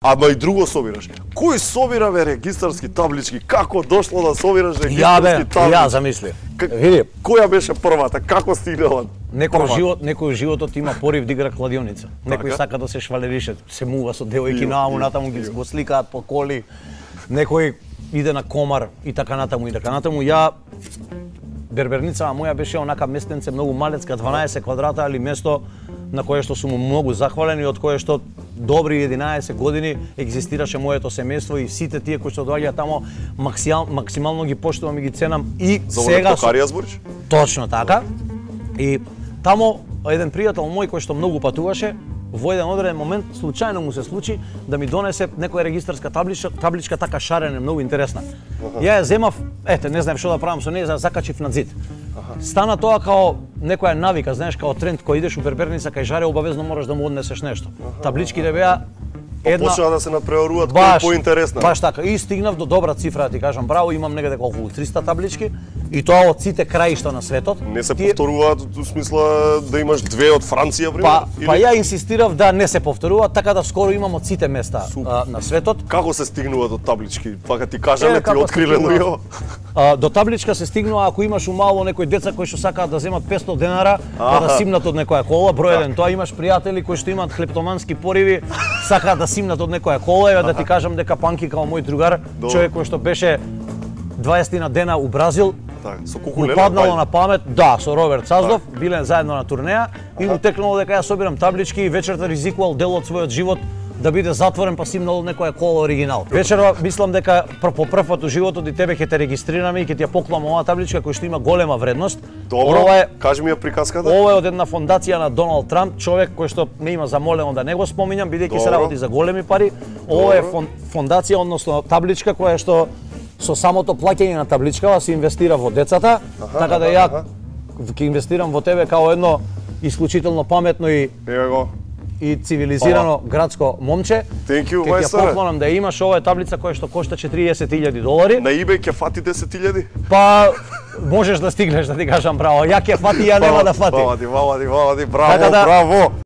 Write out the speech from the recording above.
Ама и друго собираш. Кој собира регистарски таблички? Како дошло да собираш регистарски таблички? Ја замисли. Види, која беше првата? Како стигнала? Некој животот има порив да игра кладионица. Некој сака да се швалерише, се мува со девојки нааму, натаму ги го сликаат по коли. Некој иде на комар и така натаму и така натаму. Ја берберницава моја беше онака местенце многу малецка, 12 квадрата, али место на кое што сум многу захвален и од кое што добри 11 години екзистираше моето семејство и сите тие кои што доаѓаат тамо максимално ги поштувам и ги ценам и за сега токарија збориш? Точно така. И тамо еден пријател мој кој што многу патуваше, во еден одреден момент случајно му се случи да ми донесе некоја регистарска табличка така шарена, многу интересна. Ја ја земав, не знаев што да правам со неја, закачив на зид. Стана тоа као некоја навика, знаеш, као тренд кој идеш у берберница кај жаре, обавезно мораш да му однесеш нешто. Табличките беа една почнаа да се надпреваруваат кој поинтересна. Баш така. И стигнав до добра цифра, да ти кажам, браво, имам негде околу 300 таблички и тоа од сите краишта на светот. Не се повторуваат во смисла да имаш две од Франција, пример? Па ја инсистирав да не се повторуваат, така да скоро имам од сите места на светот. Како се стигнува до таблички? Пака ти кажаме, ти откривено ја. До табличка се стигнува ако имаш умало некои деца кои што сакаат да земат 500 денара, да симнат од некоја кола, број еден. Тоа имаш пријатели кои што имаат хлептомански пориви, сакаат да симнат од некоја кола, и да ти кажам дека Панки као мој другар, човек кој што беше 20 дена у Бразил, со му паднало на памет, со Роберт Саздов, биле заедно на турнеја и му текнало дека ја собирам таблички и вечерта ризикувал дел од својот живот да биде затворен, па симнал некоја кола оригинал. Вечерва мислам дека по прв пат у животот и тебе ќе те регистрираме и ќе ти ја поклам оваа табличка која што има голема вредност. Добро, кажи ми ја приказката. Ова е од една фондација на Доналд Трамп, човек кој што ме има замолено да не го споминам, бидејќи се работи за големи пари. Ова е фондација, односно табличка која што со самото плаќање на табличкава се инвестира во децата, така да ја ќе инвестирам во тебе као едно исклучително паметно и цивилизирано градско момче. Thank you, Ќе ја поклонам да имаш. Ова е таблица која што кошта $40,000. На eBay ќе фати 10,000? Па можеш да стигнеш, да ти кажам, браво. Ја ќе фати, ја нема да фати. Вала ти, браво, браво.